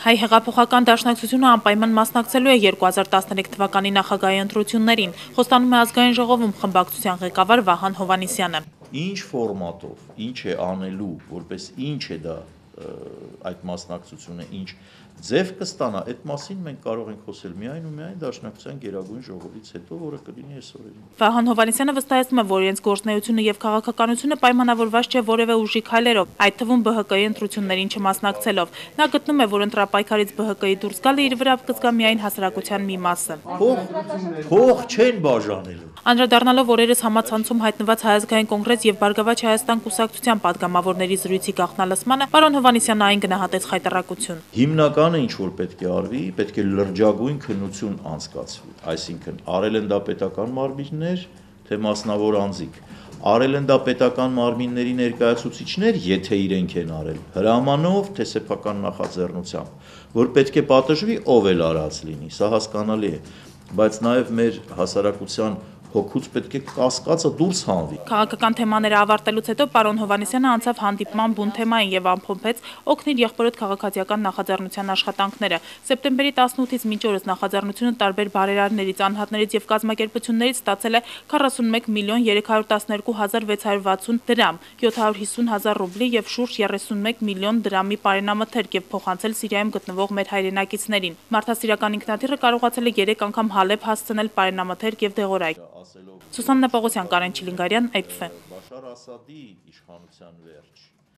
Հայ հեղափոխական դաշնակցությունը անպայման մասնակցելու է 2013 թվականի նախագահի ընտրություններին, խոստանում է ազգային ժողովում խմբակցության ղեկավար Վահան Հովհաննիսյանը։ Ինչ ֆորմատով, ինչ է անելու, որպես ինչ է դա այդ մասնակցությունը, ինչ ձև կստանա, այդ մասին մենք կարող ենք խոսել միայն ու միայն Դաշնակցության Գերագույն ժողովից հետո, որը կլինի այս օրերին։ Վահան Հովհաննիսյանը վստահեցնում է, որ իրենց գործունեությունը եւ քաղաքականությունը պայմանավորված չէ որևէ ուժի քայլերով, այդ թվում ԲՀԿ-ի ընտրություններին չմասնակցելով։ Նա գտնում է, որ ընտրապայքարից ԲՀԿ-ի դուրս գալը իր վրա կզգա միայն հասարակության մի մասը։ Փող չեն բաժանելու։ Անդրադառնալով օրերս համացանցում հայտնված Հայ ազգային կոնգրես եւ Բարգավաճ Հայաստան կուսակցության падգամավորների զրույցի գաղտնալսմանը, պարոն Հովհաննիսյանը այն գնահատեց խայտառակություն։ Հիմնականը ինչ որ պետք է արվի, պետք է լրջագույն քննություն անցկացվի, այսինքն արել են դա պետական մարմիններ, թե մասնավոր անձիկ, արել են դա պետական մարմինների ներկայացուցիչներ, եթե իրենք են արել, հրամանով, թե սեփական նախաձեռնությամբ, որ պետք է պատժվի, ով էլ արած լինի, սա հասկանալի է, բայց նաև մեր հասարակության հոգուց պետք է կասկածը դուրս հանվի։ Քաղաքական թեմաները ավարտելուց հետո պարոն Հովհաննիսյանը անցավ հանդիպման բուն թեմային եւ ամփոփեց օգնիր եղբորդ քաղաքացիական նախաձեռնության աշխատանքները։ Սեպտեմբերի 18-ից մինչ օրս նախաձեռնությունը տարբեր բարերարներից, անհատներից եւ կազմակերպություններից ստացել է 41 միլիոն 312 հազար 660 դրամ, 750 հազար ռուբլի եւ շուրջ 31 միլիոն դրամի պարենամթերք եւ փոխանցել Սիրիայում գտնվող մեր հայրենակիցներին։ Մարդասիրական ինքնաթիռը կարողացել է 3 անգամ Հալեբ հասցնել պարենամթերք եւ դեղորայք։ Սուսաննա Պողոսյան, Կարեն Չիլինգարյան, APF։ Բաշար Ասադի իշխանության վերջ։